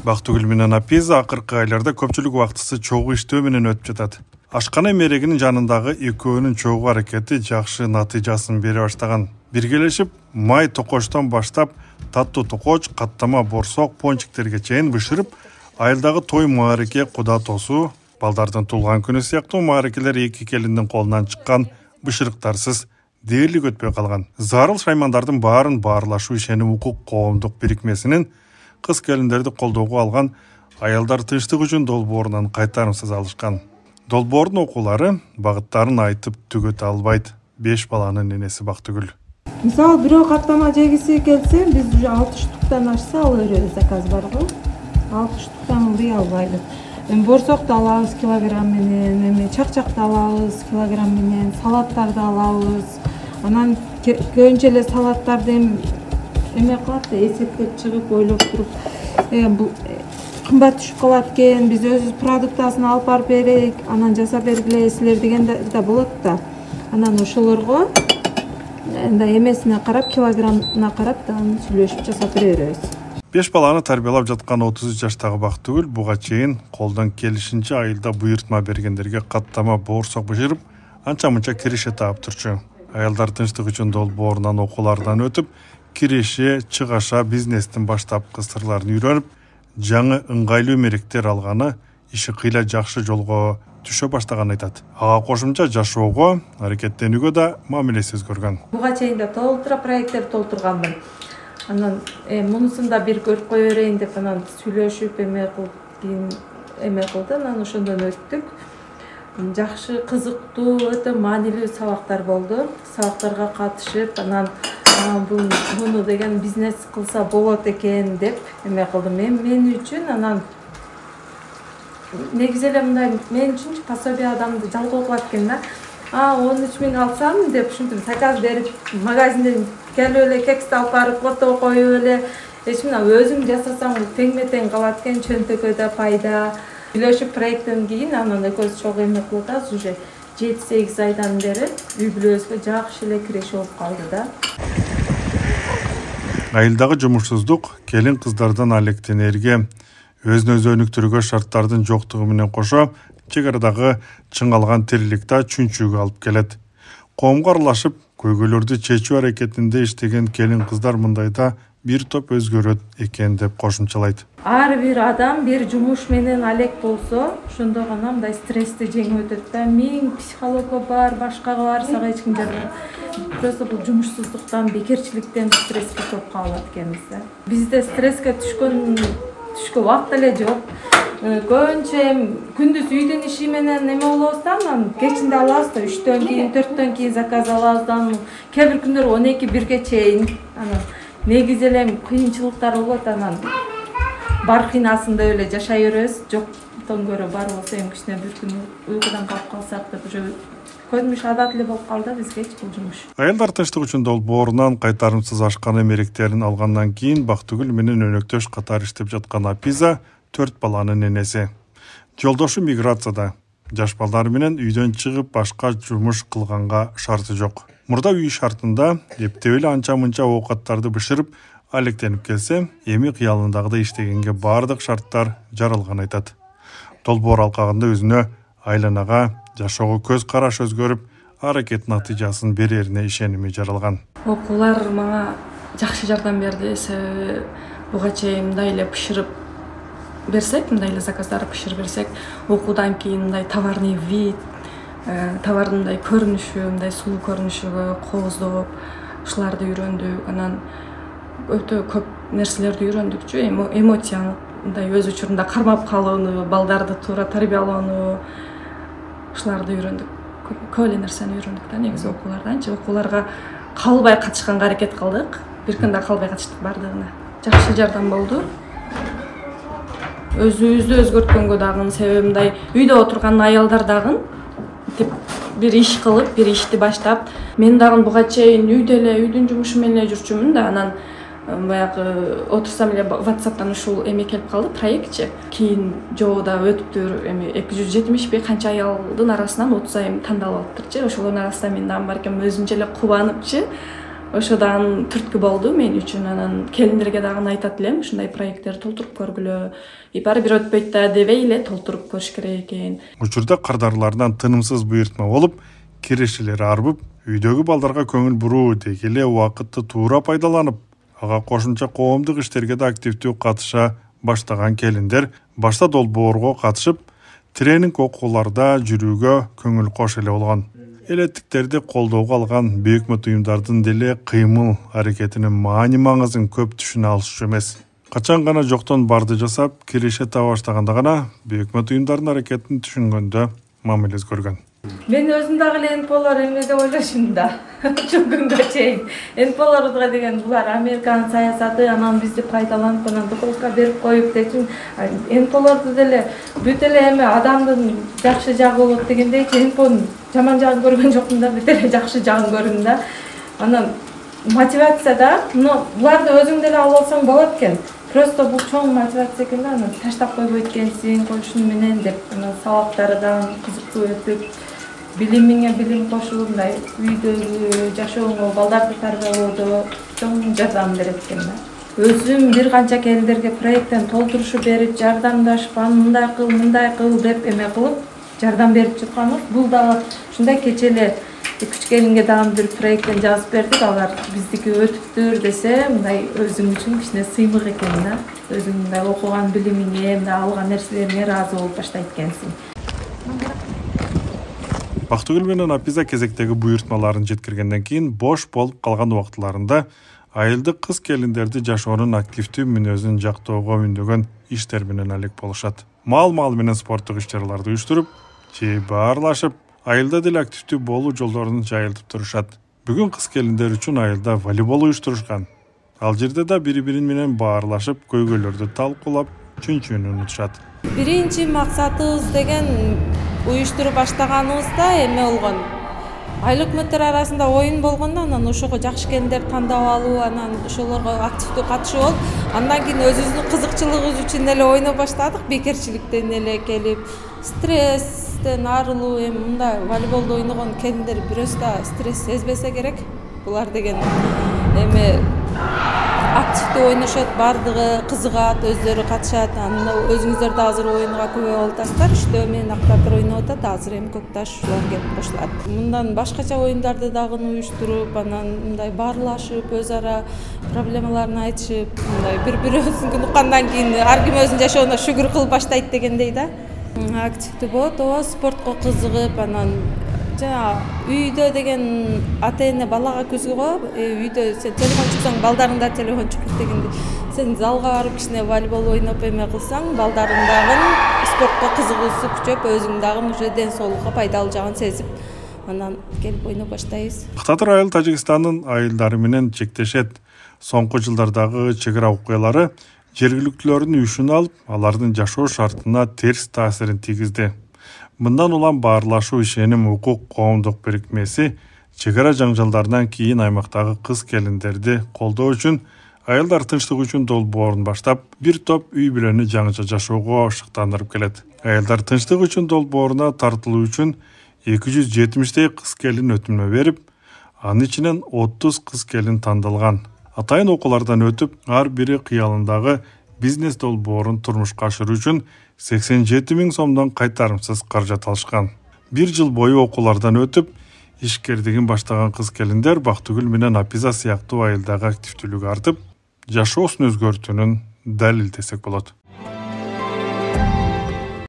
Бактыгүл менен Апиза акыркы айларда көпчүлүк убактысы чогуу иштөө менен өтүп жатат. Ашкана мерегинин жанындагы экөөнүн чогуу аракети жакшы натыйжасын бере баштаган. Биргелешип, май токочтон баштап таттуу токоч, каттама борсок, пончиктерге чейин бышырып, айылдагы той маареке, куда тосуу, балдардын туулган күнү сыяктуу маарекелер эки келиндин колунан чыккан бышырыктарсыз дээрлик өтпөй калган. Зарыл шаймандардын баарын баарлашуу ишеним укук коомдук бирикмесинин кыз келиндерди колдоого алган аялдар тынчтык үчүн долбоорунан кайтарымсыз алышкан. Долбоордун окуулары багыттарын айтып түгөтө албайт. 5 баланын энеси Бактыгүл. Мисалы бирөө каттама жегиси келсе, биз уже 60 штуктан ашса ала беребиз, заказ барго. 60 штуктан ылдый албайбыз. Борсокту алабыз килограмм менен, чакчакты алабыз килограмм менен, салаттарды алабыз. Анан көбүнчө эле салаттарды эме кылат да, эсептеп чыгып, ойлоп туруп, бул кымбат түшүп калат экен, биз өзүбүз продуктасын алып барып берейик, анан жасап бергиле силер деген да болот да. Анан ошолорго эмесине карап, килограммына карап да сүйлөшүп жасап беребиз. 5 баланы тарбиялап жаткан 33 жаштагы Бактыгүл буга чейин колдон келишинче айылда буйртма бергендерге каттама борсок бышырып, анча-мынча киреше таап турчу. Аялдар тынчтык үчүн долбоорунан окуулардан өтүп, киреше, чыгаша бизнестин баштапкы сырларын үйрөнүп, жаңы ыңгайлуу меректер алганы иши кыйла жакшы жолго түшө баштаганын айтат. Ага кошумча жашоого, аракеттенүүгө да мамилеси өзгөргөн. Буга чейин да толтура проекттер толтурганмын. Анан мунусун да бир көрүп кое берейин деп анан сүйлөшүп эме кылды, анан ошондон өттүк. Жакшы, кызыктуу, өтө маанилүү сабактар болду. Сабактарга катышып, анан муну деген бизнес кылса болот экен деп эме кылдым. Мен үчүн анан негизи эле мындай мен үчүнчү пособие адамды жалгоо кылат экен да. 13 000 алсам деп ушинтип заказ берип, магазинден келип эле кексти алып барып фото коюп эле, мына өзүм жасасам теңме-тең калат экен, чөнтөгө да пайда. Сүйлөшүп проекттен кийин анан экөөбүз чогуу эме кылып атабыз, уже 7-8 айдан бери үй бүлөбүзгө жакшы эле киреше болуп калды да. Айылдагы жумушсуздук келин кыздардан алектенерге, өзүн өзү өнүктүрүүгө шарттардын жоктугу менен кошо, чек арадагы чыңалган тирилик да чүнчүгү алып келет. Коомго аралашып, көйгөйлөрдү чечүү аракетинде иштеген келин кыздар мындайда бир топ өзгөрөт экен деп кошумчалайт. Ар бир адам бир жумуш менен алек болсо, ошондо гана мындай стрессти жеңип өтөт да. Миң психологго бар, башкага бар, сага эч ким жардам. Просто бул жумушсуздуктан, бекерчиликтен стресске топ калат экенбиз да. Бизде стресске түшкөн убакыт эле жок. Көбүнчө күндүз үйдүн иши менен эме болобуз да, анан кечинде алабыз да, 3төн кийин, 4төн кийин заказ алабыз да, кээ бир күндөр 12-1ге чейин. Анан негизи эле кыйынчылыктар болот, анан бар кыйнасында эле жашай беребиз. Жоктон көрө бар болсо кичине бир күн уйкудан калып калсак деп уже көрүнүш адат эле болуп калды бизгечи бул жумуш. Аялдар тынчтык үчүн долбоорунан кайтарымсыз ашкана меректерин алгандан кийин Бактыгүл менен өнөктөш катары иштеп жаткан Апиза 4 баланын энеси. Жолдошу миграцияда. Жаш балдар менен үйдөн чыгып башка жумуш кылганга шарты жок. Мурда үй шартында эптеп эле анча-мынча оокаттарды бышырып, алектенип келсе, эми кыялындагыдай иштегенге бардык шарттар жаралган айтат. Долбоор алкагында өзүнө, айланага, жашоого көз караш өзгөрүп, аракет натыйжасын берерине ишеними жаралган. Окуулар мага жакшы жардам берди, себеби буга чейин мындай эле бышырып берсек, мындай эле заказдар бышырып берсек, окуудан кийин мындай товарный вид, товардын мындай көрүнүшү, мындай сулуу көрүнүшүгө кооздоп, ушуларды үйрөндүк. Анан өтө көп нерселерди үйрөндүкчү, эмоцияны мындай өз учурунда кармап калууну, балдарды туура тарбиялоону, ушуларды үйрөндүк. Көп эле нерсени үйрөндүк да негизи окууларданчы. Окууларга калбай катышканга аракет кылдык. Бир күндө калбай катыштык бардыгына. Жакшы жардам болду. Өзүбүздү өзгөрткөнгө дагы, себеби мындай үйдө отурган аялдар дагы бир иш кылып, бир ишти баштап, мен дагы буга чейин үйдө эле, үйдүн жумушу менен эле жүрчүмүн да, анан баягы отурсам эле WhatsApp'тан ушул эме келип калды, проектчи. Кийин жообуда өтүптүр, эми 270 канча аялдын арасынан 30 айым тандалып алыптырчы. Ошолордун арасында мен дагы бар экенмин, өзүмчө эле кубаныпчы. ошодан түрткү болду мен үчүн. Анан келиндерге дагы айтат элем, ушундай проекттерди толтуруп көргүлө. Баары бир өтпөйт да дебей эле толтуруп көрүш керек экен. Учурда кардарлардан тынымсыз буйртма болуп, кирешелери арбып, үйдөгү балдарга көңүл буруу деги эле убакытты туура пайдаланып, ага кошумча коомдук иштерге да активдүү катыша баштаган келиндер башта долбоорго катышып, тренинг окууларда жүрүүгө көңүл кош эле болгон. Элеттиктерди колдоого алган бейөкмөт уюмдардын деле кыймыл аракетинин маани-маңызын көп түшүнө алышчу эмес. Качан гана жоктон барды жасап, киреше таба баштаганда гана бейөкмөт уюмдардын аракетин түшүнгөндө мамилес көргөн. Мен өзүм дагы эле НПОлор эме деп ойлошум да. Ушул күнгө чейин НПОлорго деген булар Американын саясаты, анан бизди пайдаланып, анан духовка берип коюп дечүн. НПОлорду деле бүт эле эме адамдын жакшы жагы болот дегендейчи, НПОнун жаман жагын көргөн жокмун да, бүт эле жакшы жагын көрдүм да. Анан мотивация да, буларды өзүң деле алып алсаң болот экен. Просто бул чоң мотивация экен да, анан таштап койбойт экенсиң, ошону менен деп, анан сабактары да кызыктуу өтүп, билимиңе билим кошулуп, мындай үйдөгү жашооңо, балдарды тарбиялоодо чоң жардам берет экен да. Өзүм бир канча келиндерге проекттен толтурушу берип, жардамдашып, мындай кыл деп эме кылып, жардам берип жатканбыз. Бул дагы ушундай кече эле 2-3 келинге дагы бир проекттен жазып бердик, алар биздики өтүптүр десе, мындай өзүң үчүн кичине сыймык экен да. Өзүң мындай окуган билимиңе, мындай алган нерселериңе ыраазы болуп баштайт экенсиң. Бактыгүл менен Апиза кезектеги буйртмаларын жеткиргенден кийин бош болуп калган убактыларында айылдык кыз келиндерди жашоонун активдүү мүнөзүн жактоого үндөгөн иштер менен алек болушат. Мал менен спорттук иш-чараларды уюштуруп, же баарлашып, айылда деле активдүү болуу жолдорун жайылтып турушат. Бүгүн кыз келиндер үчүн айылда волейбол уюштурушкан. Ал жерде да бири-бири менен баарлашып, көйгөйлөрдү талкуулап, чүнчүүнү унутушат. Биринчи максатыбыз деген уюштуруп баштаганыбызда эме болгон. Айыл өкмөттөр арасында оюн болгондо, анан ошого жакшы келиндер тандап алуу, анан ошолорго активдүү катышуу болуп, андан кийин өзүбүздүн кызыкчылыгыбыз үчүн эле ойноп баштадык, бекерчиликтен эле келип, стресстен арылуу, эми мындай волейболду ойногон келиндер бирөөсү да стресс сезбесе керек. Булар деген эми активдүү ойношот, бардыгы кызыгат, өздөрү катышат. Анан өзүңүздөр да азыр оюнга күбө болуп атасыздар. Иштөө менен активдүү ойноп атат. Азыр эми Көкташ ушулар келип кошулат. Мындан башкача оюндарды дагы уюштуруп, анан мындай баарлашып, өз ара проблемаларын айтышып, мындай бири-бирибиздин уккандан кийин ар ким өзүнүн жашооуна шүгүр кылып баштайт дегендей да. Активдүү болот, ооба, спортко кызыгып, анан жана үйдө деген ата-эне балага күзгү коёп, үйдө сен телефон чуксаң, балдарың да телефон чукпайт дегенде. Сен залга барып кичине волейбол ойноп эме кылсаң, балдарың дагы спортко кызыгуусу күчөп, өзүң дагы уже ден соолукка пайдалуу жагын сезип, анан келип ойноп баштайбыз. Татар айыл Тажикстандын айылдары менен чектешет. Соңку жылдардагы чек ара окуялары жергиликтүүлөрдүн үшүн алып, алардын жашоо шартына терс таасирин тийгизди. Мындан улам баарлашуу ишеним укук коомдук бирикмеси чек ара жаңжалдарынан кийин аймактагы кыз келиндерди колдоо үчүн айылдар тынчтык үчүн долбоорун баштап, бир топ үй бүлөнү жаңыча жашоого шыктандырып келет. Айылдар тынчтык үчүн долбооруна тартылуу үчүн 270 кыз келин өтүнмө берип, анын ичинен 30 кыз келин тандалган. Атайын окуулардан өтүп, ар бири кыялындагы бизнес долбоорун турмушка ашыруу үчүн 87 000 сомдон кайтарымсыз каражат алышкан. Бир жыл бою окуулардан өтүп, ишкердигин баштаган кыз келиндер Бактыгүл менен Апиза сыяктуу айылдагы активдүүлүгү артып, жашоосун өзгөртүүнүн далилдесек болот.